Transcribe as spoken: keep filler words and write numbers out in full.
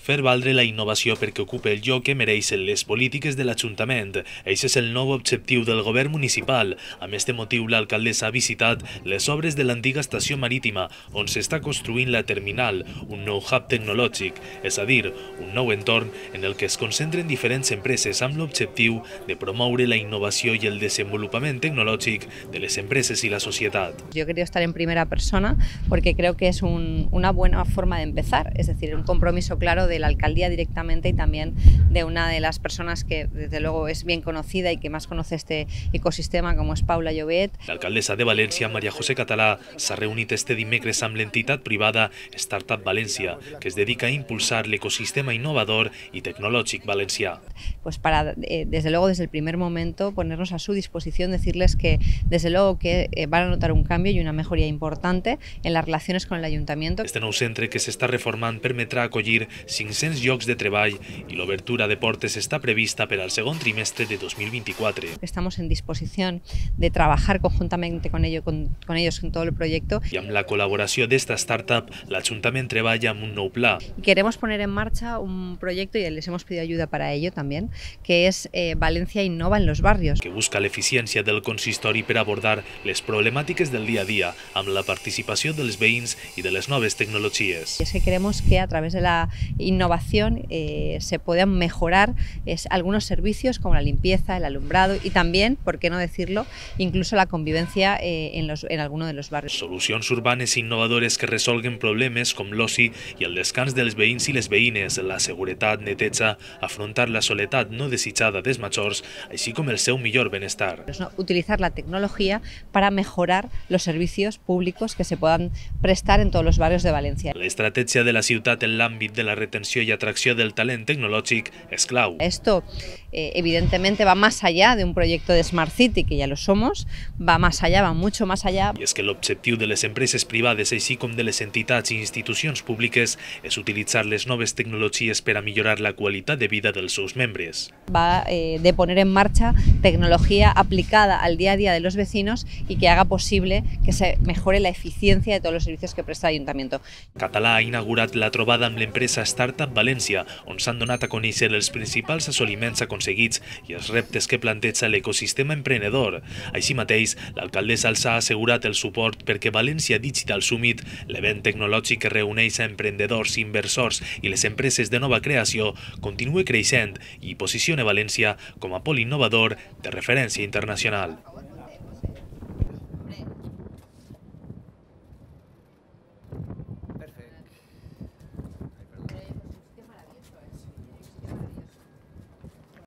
Fer valdre la innovació perquè ocupe el lloc que mereixen les polítiques de l'Ajuntament. Aquest és el nou objectiu del govern municipal. Amb este motiu, l'alcaldessa ha visitat les obres de l'antiga estació marítima, on s'està construint la terminal, un nou hub tecnològic, és a dir, un nou entorn en el que es concentren diferents empreses amb l'objectiu de promoure la innovació i el desenvolupament tecnològic de les empreses i la societat. Yo quería estar en primera persona porque creo que es un, una buena forma de empezar, es decir, un compromiso claro de la alcaldía directamente y también de una de las personas que desde luego es bien conocida y que más conoce este ecosistema, como es Paula Llobet. L'alcaldessa de València, Maria José Català, s'ha reunit este dimecres amb l'entitat privada Startup València, que es dedica a impulsar l'ecosistema innovador y tecnològic valencià. Pues para, eh, desde luego, desde el primer momento, ponernos a su disposición, decirles que desde luego que eh, van a notar un cambio y una mejoría importante en las relaciones con el ayuntamiento. Este nou centre que s'està reformant permetrà acollir cinc-cents llocs de treball i l'obertura de portes està prevista per al segon trimestre de dos mil vint-i-quatre. Estamos en disposición de trabajar conjuntamente con, ello, con, con ellos en todo el proyecto. I amb la col·laboració d'esta startup, l'Ajuntament treballa amb un nou pla. Queremos poner en marcha un proyecto y les hemos pedido ayuda para ello también, que es eh, Valencia Innova en los barrios. Que busca l'eficiència del consistori per abordar les problemàtiques del dia a dia amb la participació dels veïns i de les noves tecnologies. Es que queremos que a través de la innovación eh, se puedan mejorar es, algunos servicios como la limpieza, el alumbrado y también, por qué no decirlo, incluso la convivencia eh, en, los, en alguno de los barrios. Solucions urbanes i innovadores que resolguen problemes com l'oci i el descans dels veïns i les veïnes, la seguretat, neteja, afrontar la soledat no desitjada dels majors, així com el seu millor benestar. Utilizar la tecnología para mejorar los servicios públicos que se puedan prestar en todos los barrios de Valencia. L'estratègia de la ciutat en l'àmbit de la retenció i atracció del talent tecnològic és clau. Esto eh, evidentemente va más allá de un proyecto de Smart City, que ya lo somos, va más allá, va mucho más allá. I és que l'objectiu de les empreses privades, així com de les entitats i institucions públiques, és utilitzar les noves tecnologies per a millorar la qualitat de vida dels seus membres. Va eh, de poner en marcha tecnología aplicada al día a día de los vecinos y que haga posible que se mejore la eficiencia de todos los servicios que presta el Ayuntamiento. Català ha inaugurat la trobada amb l'empresa Startup València, on s'han donat a conèixer els principals assoliments aconseguits i els reptes que planteja l'ecosistema emprenedor. Així mateix, l'alcaldessa els ha assegurat el suport perquè València Digital Summit, l'event tecnològic que reuneix a emprendedors, inversors i les empreses de nova creació, continue creixent i posiciona València com a pol innovador de referència internacional.